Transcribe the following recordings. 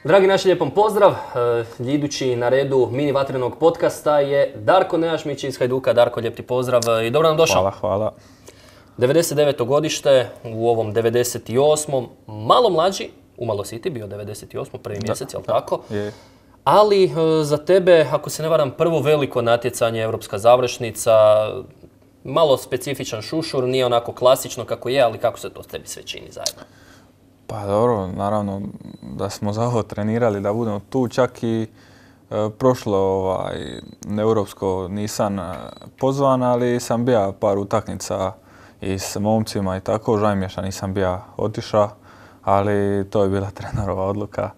Dragi naši, lijepom pozdrav. Idući na redu mini vatrenog podcasta je Darko Nejašmić iz Hajduka. Darko, lijep ti pozdrav i dobro nam došao. Hvala. 99. godište, u ovom 98. Malo mlađi, umalo si ti bio 98. prvi mjesec, jel tako? Je. Ali za tebe, ako se ne varam, prvo veliko natjecanje, europska završnica, malo specifičan šušur, nije onako klasično kako je, ali kako se to s tebi sve čini zajedno? Pa dobro, naravno da smo za ovo trenirali, da budemo tu, čak i prošlo europsko nisam pozvan, ali sam bio par utakmica i s momcima i tako, žao mi je što nisam bio otišao, ali to je bila trenerova odluka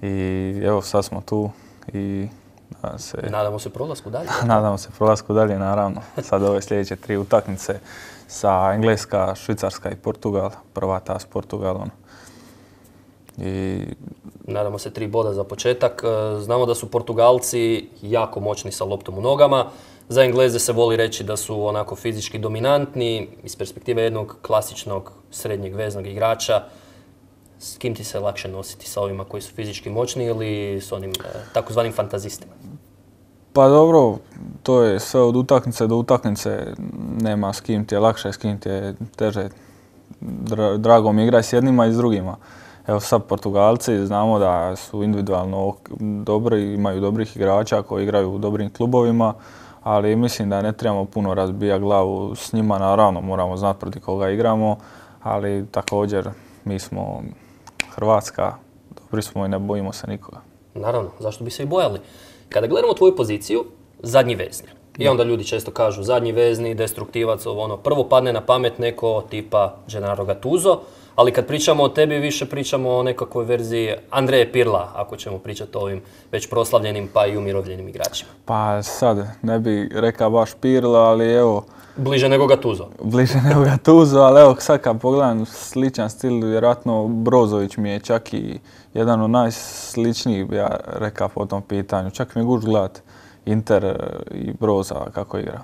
i evo sad smo tu i nadamo se prolasku dalje. Nadamo se prolasku dalje, naravno. Sad ove sljedeće 3 utakmice sa Engleska, Švicarska i Portugal, prva ta s Portugalom. Nadamo se 3 boda za početak. Znamo da su Portugalci jako moćni sa loptom u nogama. Za Engleze se voli reći da su onako fizički dominantni. Iz perspektive jednog klasičnog srednjeg veznog igrača, s kim ti se lakše nositi? Sa ovima koji su fizički moćni ili s onim takozvanim fantazistima? Pa dobro, to je sve od utakmice do utakmice. Nema s kim ti je lakše, s kim ti je teže. Drago mi igrati s jednima i s drugima. Evo sad Portugalci znamo da su individualno dobri, imaju dobrih igrača koji igraju u dobrim klubovima, ali mislim da ne trebamo puno razbijati glavu s njima. Naravno moramo znati protiv koga igramo, ali također mi smo Hrvatska, dobri smo i ne bojimo se nikoga. Naravno, zašto bi se i bojali? Kada gledamo tvoju poziciju, zadnji vezni. I onda ljudi često kažu zadnji vezni, destruktivac, prvo padne na pamet neko tipa Gennaro Gattuso, ali kad pričamo o tebi, više pričamo o nekakvoj verziji Andreje Pirla, ako ćemo pričati o ovim već proslavljenim pa i umirovljenim igračima. Pa sad, ne bi rekao baš Pirla, ali evo... Bliže nego Gattuso. Bliže nego Gattuso, ali evo sad kad pogledam sličan stil, vjerojatno Brozović mi je čak i jedan od najsličnijih, ja rekao po tom pitanju. Čak mi je gušt gledat Inter i Broza kako igra.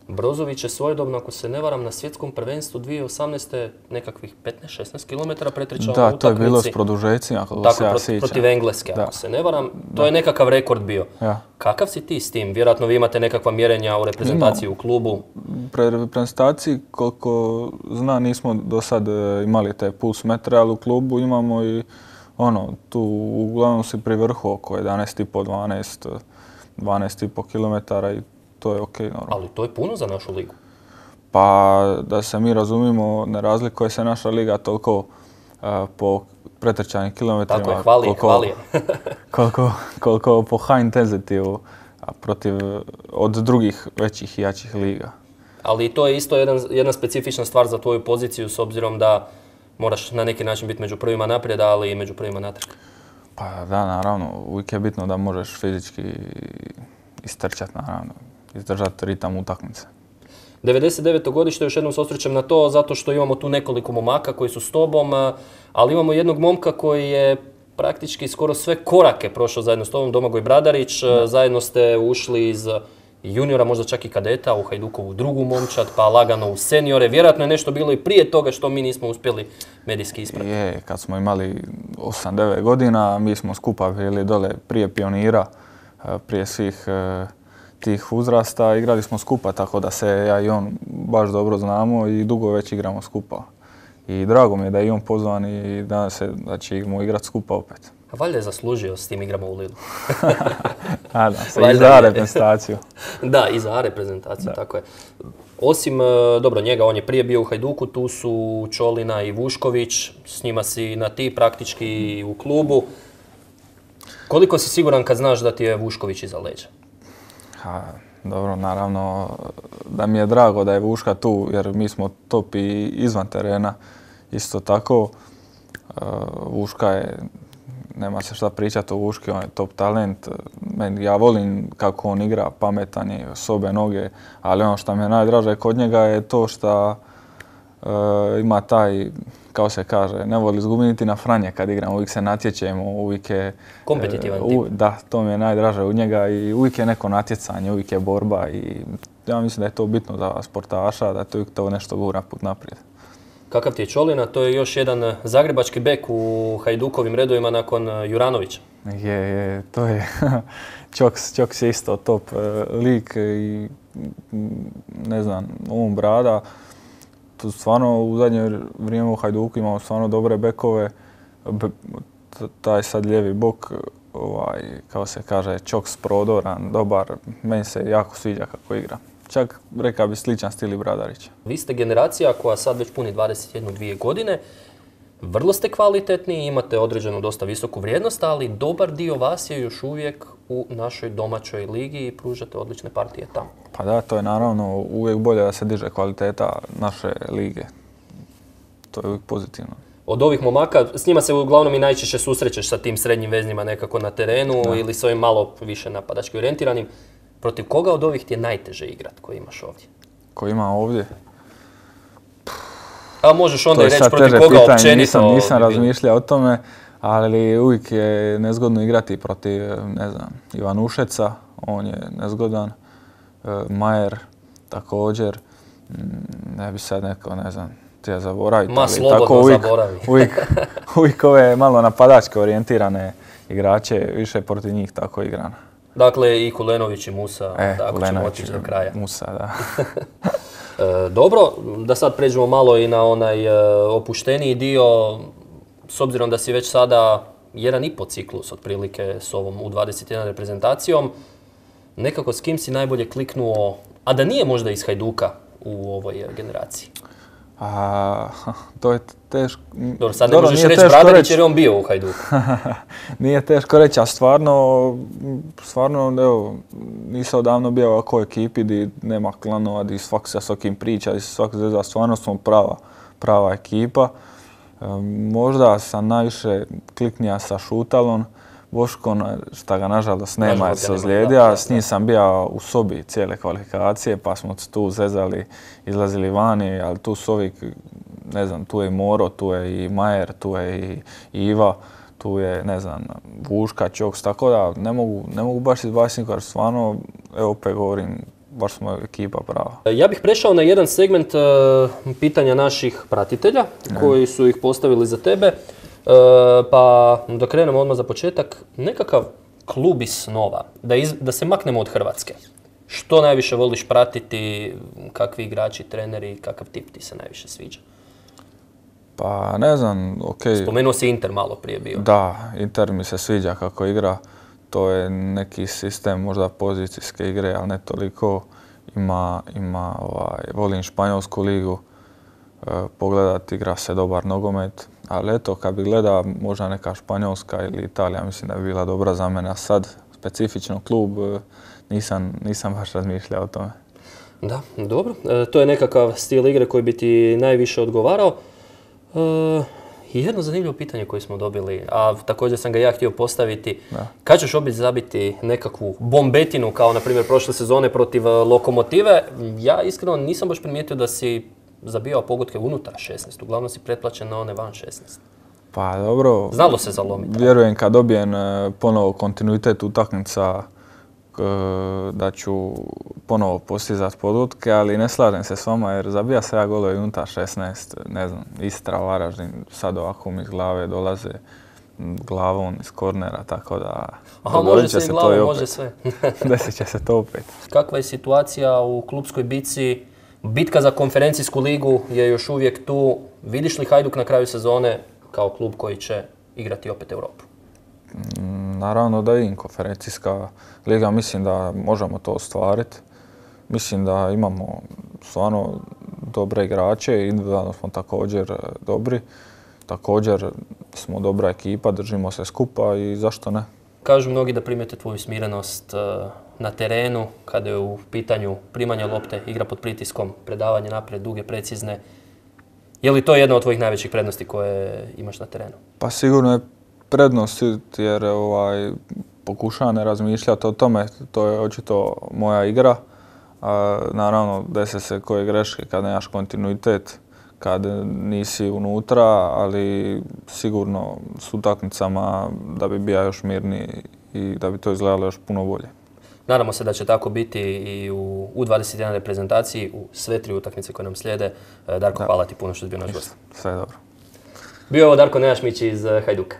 Brozović je svojedobno, ako se ne varam, na svjetskom prvenstvu 2018. nekakvih 15-16 km pretrčao na utakmici. Da, to je bilo s produžecima, ako se ja sjećam. Protiv Engleske, ako se ne varam. To je nekakav rekord bio. Ja. Kakav si ti s tim? Vjerojatno vi imate nekakva mjerenja u reprezentaciji u klubu. Reprezentaciji, koliko znam, nismo do sad imali te puls metre, ali u klubu imamo i tu uglavnom si pri vrhu oko 11,5-12,5 km i to je okej, normalno. Ali to je puno za našu ligu. Pa da se mi razumimo, ne razlikuje se naša liga toliko po pretrčanim kilometrima. Tako je, hvali je. koliko po high intensity od drugih većih i jačih liga. Ali to je isto jedna specifična stvar za tvoju poziciju, s obzirom da moraš na neki način biti među prvima naprijed, ali i među prvima natrag. Pa da, naravno. Uvijek je bitno da možeš fizički istrčati, naravno. Izdržati ritam utakmice. 99. godište, još jednom se osvrćem na to, zato što imamo tu nekoliko momaka koji su s tobom, ali imamo jednog momka koji je praktički skoro sve korake prošao zajedno s tobom, Domagoj Bradarić. Zajedno ste ušli iz juniora, možda čak i kadeta, u Hajdukovu drugu momčad, pa lagano u seniore. Vjerojatno je nešto bilo i prije toga što mi nismo uspjeli medijski isprati. Je, kad smo imali 8-9 godina, mi smo skupa bili dole prije pionira, prije svih tih uzrasta, igrali smo skupa, tako da se ja i on baš dobro znamo i dugo već igramo skupa. I drago mi je da je i on pozvan i da ćemo igrati skupa opet. A valjda je zaslužio s tim igrama u Lilu. Nadam se, i za reprezentaciju. Da, i za reprezentaciju, tako je. Osim, dobro, njega, on je prije bio u Hajduku, tu su Čolina i Vušković, s njima si na ti praktički u klubu. Koliko si siguran kad znaš da ti je Vušković iza leđa? Dobro, naravno da mi je drago da je Vuška tu, jer mi smo top i izvan terena. Isto tako, Vuška je, nema se šta pričati o Vuški, on je top talent. Ja volim kako on igra, pametan je, sobe, noge, ali ono što mi je najdraže kod njega je to što ima taj, kao se kaže, ne voli izgubiti niti na franje kad igramo, uvijek se natječemo, uvijek je... Kompetitivan tip. Da, to mi je najdraže u njega i uvijek je neko natjecanje, uvijek je borba i ja mislim da je to bitno za sportaša, da to uvijek to nešto gura put naprijed. Kakav ti je Čolina? To je još jedan zagrebački bek u Hajdukovim redovima nakon Juranovića. To je Čoks je isto top lik i ne znam, brada. Tu stvarno u zadnje vrijeme u Hajduku imamo stvarno dobre bekove. Taj sad lijevi bok, kao se kaže, Čoks prodoran, dobar. Meni se jako sviđa kako igra. Čak rekao bi sličan stil i Bradarića. Vi ste generacija koja sad već puni 21-2 godine. Vrlo ste kvalitetni, imate određenu dosta visoku vrijednost, ali dobar dio vas je još uvijek u našoj domaćoj ligi i pružate odlične partije tamo. Pa da, to je naravno uvijek bolje da se diže kvaliteta naše lige. To je uvijek pozitivno. Od ovih momaka, s njima se uglavnom i najčešće susrećeš sa tim srednjim veznima nekako na terenu ili s ovim malo više napadački orijentiranim. Protiv koga od ovih ti je najteže igrat koji imaš ovdje? Koji ima ovdje? A možeš onda i reći protiv koga općenito. Nisam razmišljao o tome, ali uvijek je nezgodno igrati protiv, ne znam, Ivanušeca, on je nezgodan, Majer također, ne bi sad neko, ne znam, htio zaboraviti. Ma slobodno zaboravi. Uvijek ove malo napadačke orijentirane igrače, više protiv njih tako igrana. Dakle, i Kulenović i Musa, tako ćemo otići do kraja. Musa, da. Dobro, da sad pređemo malo i na onaj opušteniji dio, s obzirom da si već sada 1,5 ciklus otprilike s ovom U21 reprezentacijom, nekako s kim si najbolje kliknuo, a da nije možda iz Hajduka u ovoj generaciji? To je teško. Dobro, sad ne možeš reći Bradarić jer je on bio u Hajduku. Nije teško reći, a stvarno, evo, nisam odavno bio u ovakvoj ekipi gdje nema klanova, gdje svak se s okim priča, gdje se svak zvezda, stvarno smo prava ekipa. Možda sam najviše kliknija sa Šutalom, Boškom, šta ga nažalost nema jer se ozlijedio. S njim sam bio u sobi cijele kvalifikacije, pa smo tu zezali, izlazili vani, ali tu su ovi, ne znam, tu je i Moro, tu je i Majer, tu je i Iva, tu je, ne znam, Vuška, Čoks, tako da ne mogu baš izbaciti nikoga, jer stvarno, evo opet govorim, baš smo ekipa prava. Ja bih prešao na jedan segment pitanja naših pratitelja koji su ih postavili za tebe. Pa da krenemo odmah za početak, nekakav klub iz snova, da se maknemo od Hrvatske. Što najviše voliš pratiti, kakvi igrači, treneri, kakav tip ti se najviše sviđa? Pa ne znam, okej. Spomenuo si Inter malo prije bio. Da, Inter mi se sviđa kako igra. To je neki sistem možda pozicijske igre, ali ne toliko. Volim Španjolsku ligu, pogledat, igra se dobar nogomet. Ali eto, kad bi gleda možda neka Španjolska ili Italija, mislim da bi bila dobra za mene. A sad, specifično klub, nisam baš razmišljao o tome. Da, dobro. To je nekakav stil igre koji bi ti najviše odgovarao. Jedno zanimljivo pitanje koje smo dobili, a također sam ga ja htio postaviti. Kad ćeš opet zabiti nekakvu bombetinu, kao na primjer prošle sezone protiv Lokomotive? Ja iskreno nisam baš primijetio da si zabijao pogodke unutar 16, uglavnom si pretplaćen na one van 16. Pa dobro, znalo se zalomiti. Vjerujem kad dobijem ponovo kontinuitet utakmica da ću ponovo postizati pogodke, ali ne slažem se s vama jer zabija se ja golove unutar 16, ne znam, Istra, Varaždin, sad ovako mi iz glave dolaze glavom iz kornera, tako da... Aha, može se i glavom, može sve. Desit će se to opet. Kakva je situacija u klupskoj bitci? Bitka za konferencijsku ligu je još uvijek tu. Vidiš li Hajduk na kraju sezone kao klub koji će igrati opet Europu? Naravno da vidim konferencijska liga, mislim da možemo to ostvariti. Mislim da imamo stvarno dobre igrače, individualno smo također dobri. Također smo dobra ekipa, držimo se skupa i zašto ne? Kažu mnogi da primijete tvoju smirenost na terenu, kada je u pitanju primanje lopte, igra pod pritiskom, predavanje naprijed, duge, precizne. Je li to jedna od tvojih najvećih prednosti koje imaš na terenu? Pa sigurno je prednost jer pokušavam ne razmišljati o tome, to je očito moja igra. Naravno, desi se koje greške kad nemaš kontinuitet, kad nisi unutra, ali sigurno s utakmicama da bi bio još mirniji i da bi to izgledalo još puno bolje. Nadamo se da će tako biti i u U21 reprezentaciji, u sve 3 utakmice koje nam slijede. Darko, hvala ti puno što si bio naš gost. Sve dobro. Bio je ovo Darko Nejašmić iz Hajduka.